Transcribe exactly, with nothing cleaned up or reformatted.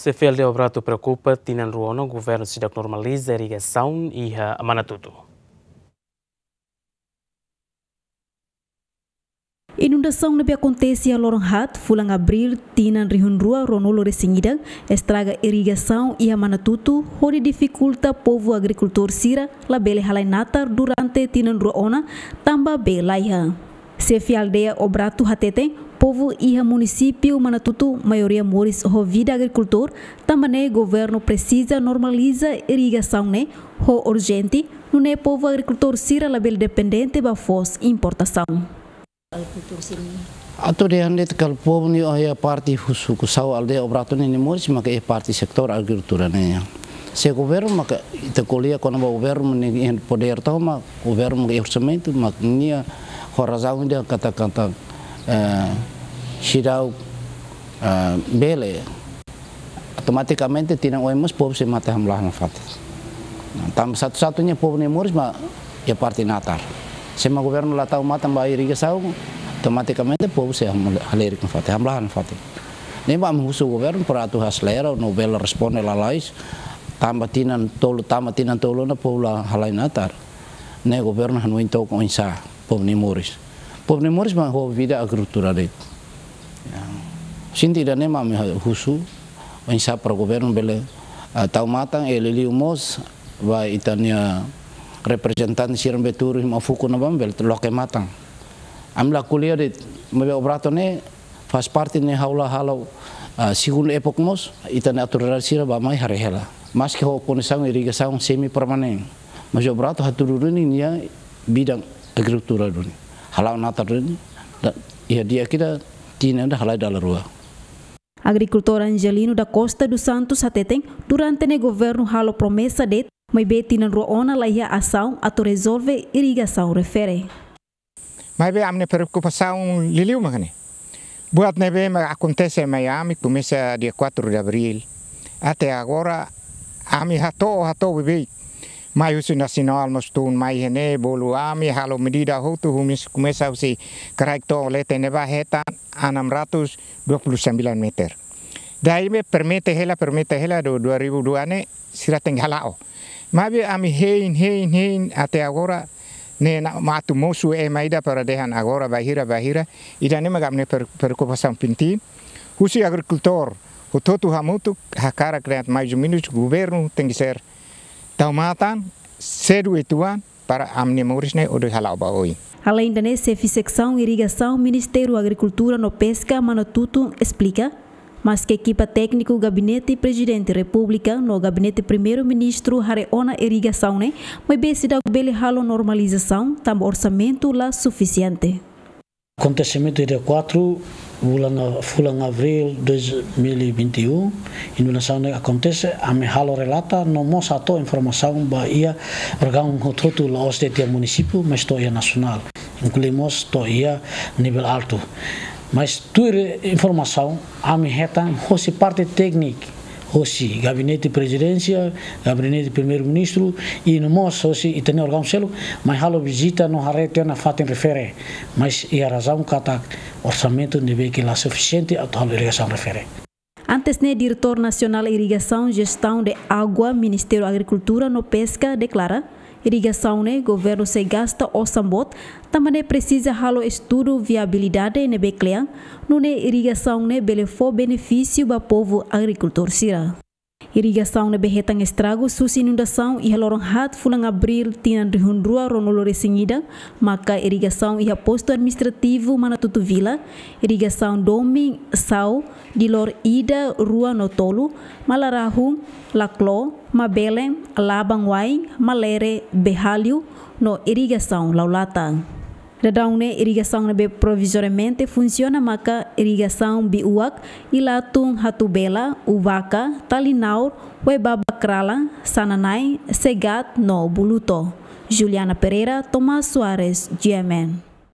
Xefe aldeia Obrato preokupa, tinan rua ona governu seidauk normaliza irrigasaun iha Manatutu. Inundasaun ne'ebé akontese iha loron haat, fulan Abríl, tinan rihun rua ruanulu-resin-ida, estraga irrigasaun iha Manatutu, hodi difikulta povu agrikultór sira labele halai natar durante tinan rua ona, tanba bee laiha. Xefe aldeia Obrato hateten, povu iha munisípiu Manatutu maioria moris ho vida agrikultór, tanba ne'e governu presiza normaliza irrigasaun ne'e ho urjente, nune'e povu agrikultór sira labele dependente ba foos importasaun. Atu dehan de'it katak povu ne'e iha parte husi Kusau aldeia Obrato ne'e nia moris maka iha parte setór agrikultura ne'e. Se governu maka ita ko'alia kona-ba governu ne'e iha podér tomak, governu maka iha orsamentu, maka nia ho razaun ida katak, katak, eh, seidauk, eh, bele. Automatikamente tinan oin mós povu sei mate hamlaha nafatin. Nah, tanba satu-satunya povu nia moris mak iha parte natar. Se mak governu la tau matan ba irrigasaun, automatikamente povu sei hamle-, halerik nafatin, hamlaha nafatin. Ne'e mak ami husu governu para atu aselera no bele responde lalais, tanba tinan tolu, tanba tinan tolu ona povu la halai natar. Ne'e governu hanoin took oinsá povu nia moris. Povu nia moris mak ho vida agrikultura de'it. Ya. Sente ida-ne'e mak ami husu, oinsá para governu bele, ah, tau matan, eh, liuliu mós ba ita-nia reprezentante sira ne'ebé tuur iha Maun Fuku ne'ebá bele loke matan. Ami la ko'alia de'it, maibé Obrato ne'e faz parte ne'e ha'u la halo, ah, segundu epok mós, ita-nia autoridade sira bá-mai haree hela. Maski ho kondisaun irrigasaun semi permanente, mas Obrato hatudu duni nia bidan agrikultura duni. Hala'o natar duni, da-, iha di'ak ida tinan ida halai dala rua. Agrikultór Angelino da Costa dos Santos hateten, durante ne'e governu halo promesa de'it, maibé tinan rua ona laiha asaun atu rezolve irrigasaun refere. Maibé ami-nia preokupasaun liuliu mak ne'e. Buat ne'ebé mak akontese mai ami komesa dia quatro de abril. Até agora ami hato'o, hato'o beibeik. Mai husi nasionál mós tun mai iha ne'e bolu ami halo medida hotu husi, komesa husi kraik to'o leten ne'ebá hetan enam ratus dua puluh sembilan meter. Daí ami permite hela, permite hela do dua ribu dua ne'e sira tenke hala'o. Maibé ami hein, hein, hein até agora ne'e mak atu mosu ema ida para dehan agora bainhira, bainhira. Ida-ne'e mak ami-nia per-, preokupasaun penting. Husi agrikultór hotu-hotu hamutuk hakarak dehan mais ou menos governu tenke ser tau matan sedu uitoan para ami-nia moris ne'e hodi hala'o ba oin. Aleinde ne'e, xefe seksaun irrigasaun Ministériu Agrikultura no Peska Manatutu esplika, maske ekipa tékniku Gabinete Prezidente Repúblika no Gabinete Primeiru-Ministru haree ona irrigasaun ne'e, maibé seidauk bele halo normalizasaun tanba orsamentu la sufisiente. Akontesimentu dia quatro, fulan, fulan Abríl dois mil e vinte e um, inundasaun ne'e akontese, ami halo relata no mós hato'o informasaun ba iha órgaun hotu-hotu, la'ós de'it iha munisípiu, mas to'o iha nasionál, inklui mós to'o iha nivel altu. Mas tuir informasaun ami hetan hosi parte tékniku, hosi Gabinete Prezidénsia, Gabinete Primeiru-Ministru, i no mós hosi ita-nia órgaun seluk mai halo vizita no haree tiha ona fatin refere, mas iha razaun katak orsamentu ne'ebé ke la sufisiente atu halo irrigasaun refere. Antes ne'e, Diretór Nasionál Irrigasaun Jestaun de Água, Ministériu Agrikultura no Peska, deklara, irrigasaun ne'e governu sei gasta osan boot, tanba ne'e presiza halo estudu viabilidade ne'ebé kle'an, nune'e irrigasaun ne'e bele fó benefísiu ba povu agrikultór sira. Irrigasaun ne'ebé hetan estragu husi inundasaun iha loron haat fulan Abríl tinan rihun rua ruanulu-resin-ida, maka irrigasaun iha Postu Administrativu Manatutu Vila, irrigasaun domin Sau, Dilor ida, rua no tolu, Malarahun, Laklo, Mabelen, Laban Wain, Malere, Behalio, no irrigasaun Laulata. Daudaun ne'e irrigasaun ne'ebé provizoriamente funsiona maka irrigasaun Biuak, Ilatun, Hatubela, Ubaka, Talinaur, Huaibaba Kralan, Sananai, Segat no Buluto. Juliana Pereira, Tomás Soares, G M N.